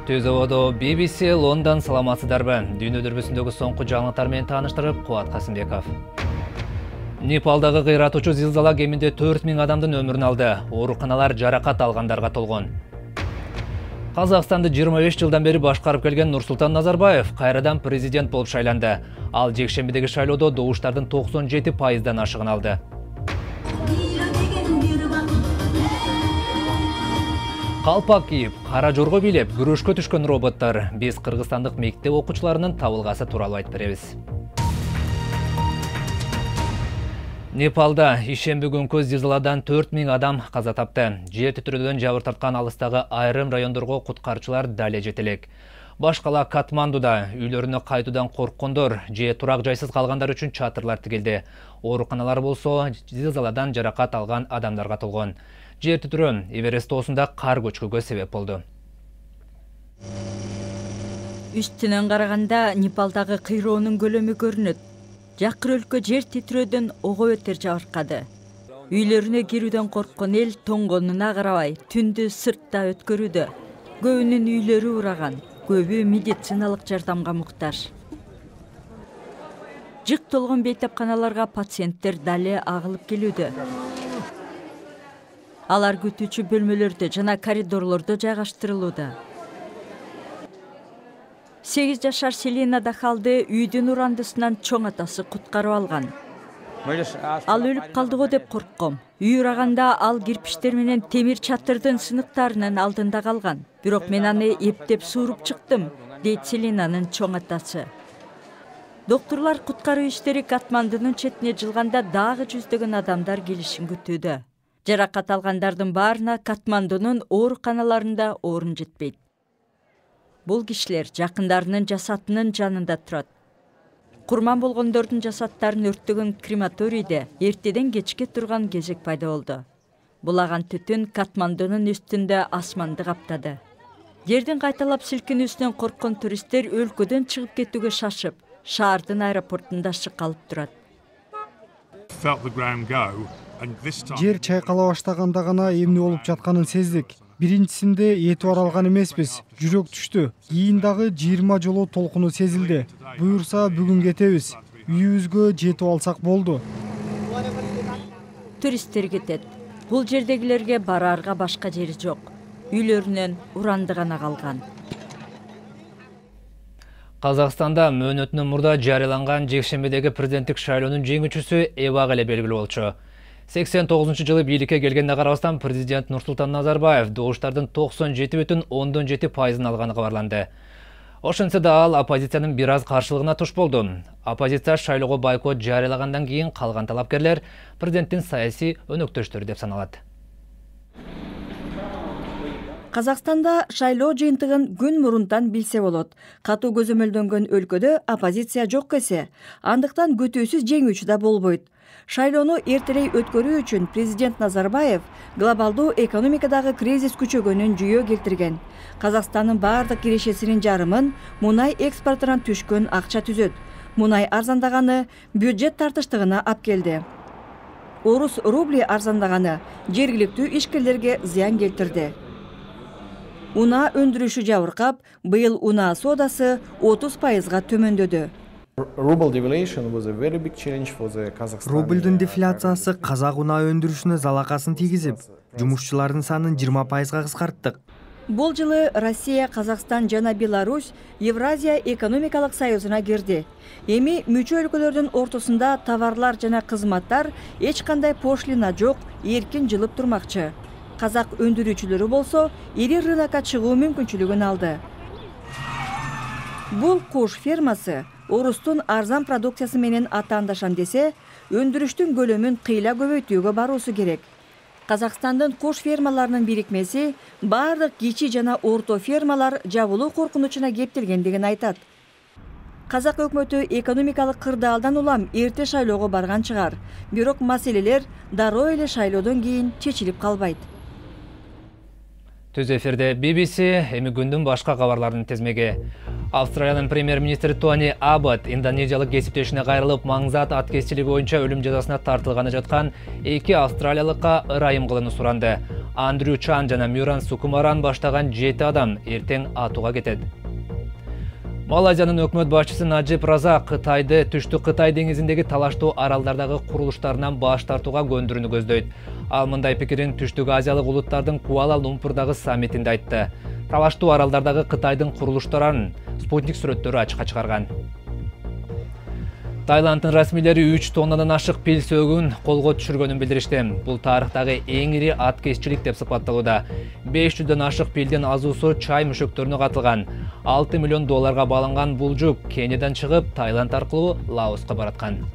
Түз ободо BBC Лондон саламатсыздарбы? Дүйнө дүрбүсүндөгү соңку жаңылыктар менен тааныштырып, Кубат Касымбеков. Непалдагы кыйратуучу зилзала кеминде 4000 адамдын өмүрүн алды. Ооруканалар жаракат алгандарга толгон. Казакстанды 25 жылдан бери башкарып келген Нурсултан Назарбаев кайрадан президент болуп шайланды. Ал жекшембидеги шайлоодо добуштардын 97%дан ашыгын алды. Калпак кийип, кара жорго бийлеп, күрөшкө түшкөн роботтор. Биз кыргызстандык мектеп окуучуларынын табылгасы тууралуу айтып беребиз. Непалда ишемби күнкү зилзаладан 4000 адам каза тапты. Жер титирөөдөн жабыр тарткан алыстагы айрым райондорго куткаруучулар дале жете элек. Баш кала Катмандуда үйлөрүнө кайтуудан корккондор же турак жайсыз калгандар үчүн чатырлар тигилди. Ооруканалар болсо зилзаладан жаракат алган адамдарга толгон. Жер титирөө Эверест тоосунда кар көчкүгө себеп болду. Үстүнөн караганда Непалдагы кыйроонун көлөмү көрүнөт. Жакыр өлкө жер титирөөдөн ого бетер жабыркады. Үйлөрүнө кирүүдөн корккон эл тоңгонуна карабай түндү сыртта өткөрүүдө. Көбүнүн үйлөрү ураган, көбү медициналык жардамга муктаж. Жык толгон бейтапканаларга пациенттер дале агылып келүүдө. Алар күтүүчү бөлмөлөрдө жана коридорлордо жайгаштырылууда. 8 жашар Селина Дахалды үйдүн урандысынан чоң атасы куткарып алган. Ал өлүп калдыго деп коркком. Үй ураганда ал кирпиштер менен темир чатырдын сыныктарынын алдында калган. Бирок мен аны эптеп сууруп чыктым, дейт Селинанын чоң атасы. Доктурлар куткаруу иштери Катмандынын четине жылганда дагы жүздөгөн адамдар келишин күтүүдө. Жаракат алгандардын баарына Катмандунун ооруканаларында орун жетпейт. Бул кишилер жакындарынын жасатынын жанында турат. Курман болгондордун жасаттарын өрттөгөн крематорийде эртеден кечке турган кезек пайда болду. Булаган түтүн Катмандунун үстүндө асманды каптады. Жердин кайталап силкинүүсүнөн корккон туристтер өлкөдөн чыгып кетүүгө шашып, шаардын аэропортунда шыкалып турат. Жер чайкала баштаганда гана эмне болуп жатканын сездик. Биринчисинде этип аралган эмеспиз. Жүрөк түштү. Кийин дагы 20 жолу толкуну сезилди. Буюрса бүгүн кетебиз. Үйүбүзгө жетип алсак болду. Туристтер кетет. Бул жердегилерге бараарга башка жери жок. Үйлөрүнөн уранды гана калган. Казакстанда мөөнөтүнөн мурда жарыяланган жекшембидеги президенттик шайлоонун жеңүүчүсү эбак эле белгилүү болчу. 89-жылы бийликке келгенде карабастан президент Нурсултан Назарбаев добуштардын 97,7% алганы кабарланды. Ошентсе да ал оппозициянын бир аз каршылыгына туш болду. Оппозиция шайлоого бойкот жарыялагандан кийин калган талапкерлер президенттин саясий өнөктөштөрү деп саналат. Казакстанда шайлоо жыйынтыгын күн мурунтан билсе болот. Катуу көзөмөлдөнгөн өлкөдө оппозиция жок эсе, андыктан күтүүсүз жеңүүчү да болбойт. Шайлоону эртерээк өткөрүү үчүн президент Назарбаев глобалдуу экономикадагы кризис күчөгөнүн жүйө келтирген. Казакстандын баардык кирешесинин жарымын мунай экспортунан түшкөн акча түзөт. Мунай арзандаганы бюджет тартыштыгына алып келди. Орус рубли арзандаганы жергиликтүү ишкерлерге зыян келтирди. Унаа өндүрүшү жабыркап, быйыл унаа соодасы 30%га төмөндөдү. Рублдун дефляциясы казак унаа өндүрүшүнө залакасын тийгизип, жумушчулардын санын 20%га кыскарттык. Бул жылы Россия, Казакстан жана Беларусь Евразия экономикалык союзуна кирди. Эми мүчө өлкөлөрдүн ортосунда товарлар жана кызматтар эч кандай пошлина жок, эркин жылып турмакчы. Казак өндүрүүчүлөрү болсо ири рынокко чыгуу мүмкүнчүлүгүн алды. Бул куш фермасы орустун арзан продукциясы менен атаандашам десе, өндүрүштүн көлөмүн кыйла көбөйтүүгө баруусу керек. Казакстандын куш фермаларынын бирикмеси баардык кичи жана орто фермалар жабылуу коркунучуна кептелгендигин айтат. Казак өкмөтү экономикалык кырдаалдан улам эрте шайлоого барган чыгар, бирок маселелер дароо эле шайлоодон кийин чечилип калбайт. Түз эфирде BBC, эми күндүн башка кабарларынын тезмеги. Австралиянын премьер-министри Тони Аббот индонезиялык кесиптешине кайрылып, маңзат аткезчилиги боюнча өлүм жазасына тартылганы жаткан 2 австралиялыкка ырайым кылууну суранды. Андрю Чан жана Мюран Сукумаран баштаган 7 адам эртең атууга кетет. Малайзиянын өкмөт башчысы Наджиб Разак Кытайды түштүк Кытай деңизиндеги талаштуу аралдардагы курулуштарынан баш тартууга көндүрүүнү көздөйт. Ал мындай пикирин Түштүк Азиялык улуттардын Куала-Лумпурдагы саммитинде айтты. Талаштуу аралдардагы Кытайдын курулуштарын спутник сүрөттөрү ачыкка чыгарган. Таиланддын расмийлери 3 тоннадан ашык пил сөөгүн колго түшүргөнүн билдиришти. Бул тарыхтагы эң ири аткезчилик деп сыпатталууда. 500дөн ашык пилдин азуусу чай мүшөктөрүнө катылган. $6 миллион баланган бул жүк Кениядан чыгып, Таиланд аркылуу Лаоска бараткан.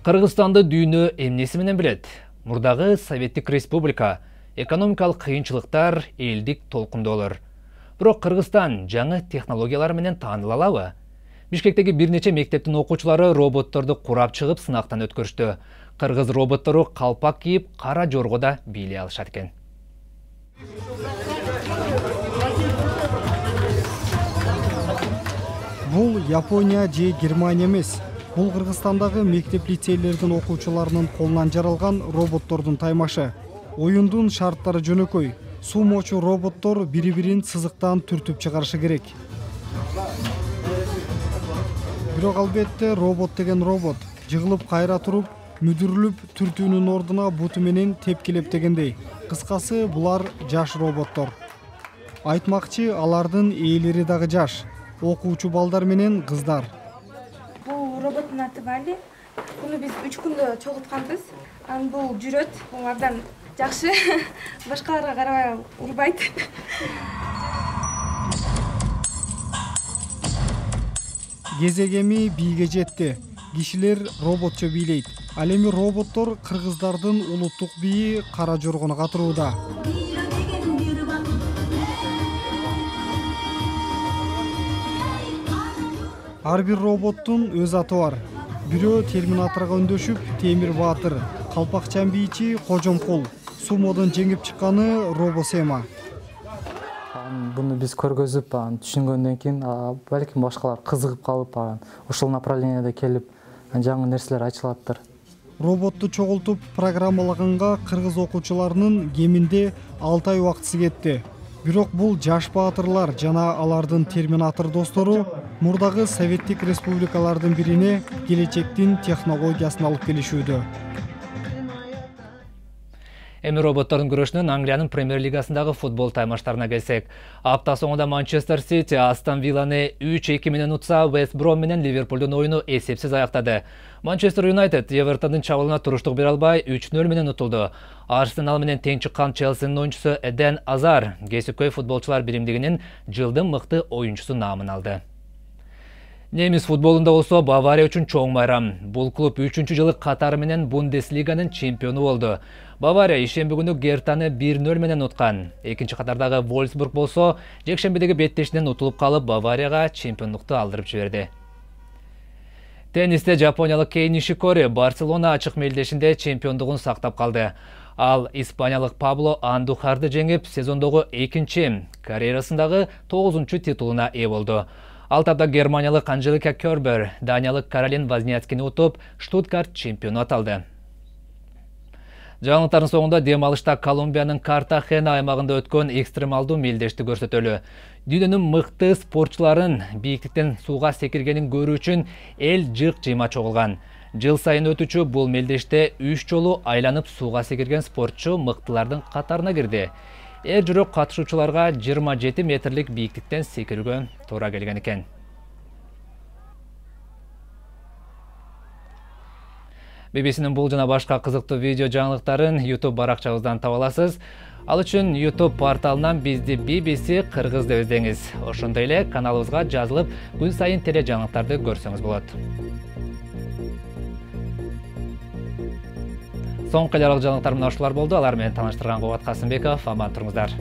Кыргызстанды дүйнө эмнеси менен билет? Мурдагы Советтик Республика, экономикалык кыйынчылыктар, элдик толкундоолор. Бирок Кыргызстан жаңы технологиялар менен тааныла алабы? Бишкектеги бир нече мектептин окуучулары роботторду курап чыгып сынактан өткөрүштү. Кыргыз роботтору калпак кийип, кара жоргода бийлей алышат экен. Бул Япония же Германия эмес. Бул Кыргызстандагы мектеп-лицейлердин окуучуларынын колунан жаралган роботтордун таймашы. Оюндун шарттары жөнөкөй. Сумочу роботтор бири-бирин сызыктан түртүп чыгарышы керек. Бирок албетте робот деген робот. Жыгылып кайра туруп, мүдүрүлүп түртүүнүн ордуна буту менен тепкилеп дегендей. Кыскасы булар жаш роботтор. Айтмакчы, алардын ээлери дагы жаш. Окуучу балдар менен кыздар. Бул роботтун аты Вали. Буну биз 3 күндө чогултканбыз. Анан бул жүрөт, бул абдан жакшы. Башкаларга карабай урбайт. Кезегеми бийге жетти. Кишилер роботчо бийлейт. Ал эми роботтор кыргыздардын улуттук бийи кара жоргону катырууда. Ар бир роботтун өз аты бар. Бирөө Терминаторго өндөшүп, Темир Баатыр, калпакчан бийчи Кожомкул, сумодон жеңип чыкканы Робосема. Буну биз көргөзүп, түшүнгөндөн кийин, балким башкалар кызыгып калып, ошол направленияда келип, жаңы нерселер ачылаттыр. Роботту чогултуп программалаганга кыргыз окуучуларынын кеминде 6 ай убактысы кетти. Бирок бул жаш баатырлар жана алардын Терминатор достору мурдагы Советтик республикалардын бирине келечектин технологиясын алып келишүүдө. Эми роботтордун күрөшүнөн Англиянын премьер-лигасындагы футбол таймаштарына келсек. Апта соңунда Манчестер Сити Астон Вилланы 3-2 менен утса, Вест Бром менен Ливерпулдун оюну эсепсиз аяктады. Манчестер Юнайтед Эвертондун чабуулуна туруштук бере албай 3-0 менен утулду. Арсенал менен тең чыккан Челсинин оюнчусу Эден Азар кесипкөй футболчулар биримдигинин жылдын мыкты оюнчусу наамын алды. Немис футболунда болсо Бавария үчүн чоң байрам. Бул клуб 3-жылы катары менен Бундеслиганын чемпиону болду. Бавария ишемби күнү Гертаны 1-0 менен уткан. Экинчи катардагы Вольсбург болсо жекшембидеги беттешинен утулуп калып, Баварияга чемпиондукту алдырып жиберди. Теннисте жапониялык Кей Нишикори Барселона ачык мелдешинде чемпиондугун сактап калды. Ал испаниялык Пабло Андухарды жеңип, сезондогу экинчи, карьерасындагы 9-чу титулуна ээ болду. Ал тапта германиялык Анжелика Кербер, даниялык Каролин Возняцкини утуп, Штутгарт чемпиону аталды. Жаңылыктардын соңунда дем алышта Колумбиянын Картахена аймагында өткөн экстремалдуу мелдешти көрсөтөлү. Дүйнөнүн мыкты спортчуларын бийиктиктен сууга секиргенин көрүү үчүн эл жык-жыйма чогулган. Жыл сайын өтүүчү бул мелдеште 3 жолу айланып сууга секирген спортчу мыктылардын катарына кирди. Эр жүрөк катышуучуларга 27 метрлик бийиктиктен секирүүгө туура келген экен. BBC-нин бул жана башка кызыктуу видео жаңылыктарын YouTube баракчабыздан таба аласыз. Ал үчүн YouTube порталынан бизди BBC Кыргыз деп издеңиз. Ошондой эле каналыбызга жазылып, күн сайын теле жаңылыктарды көрсөңүз болот. Соңку эле жаңылыктар мына ушулар болду. Алар менен тааныштырган Кубат Касымбеков. Аман туруңуздар.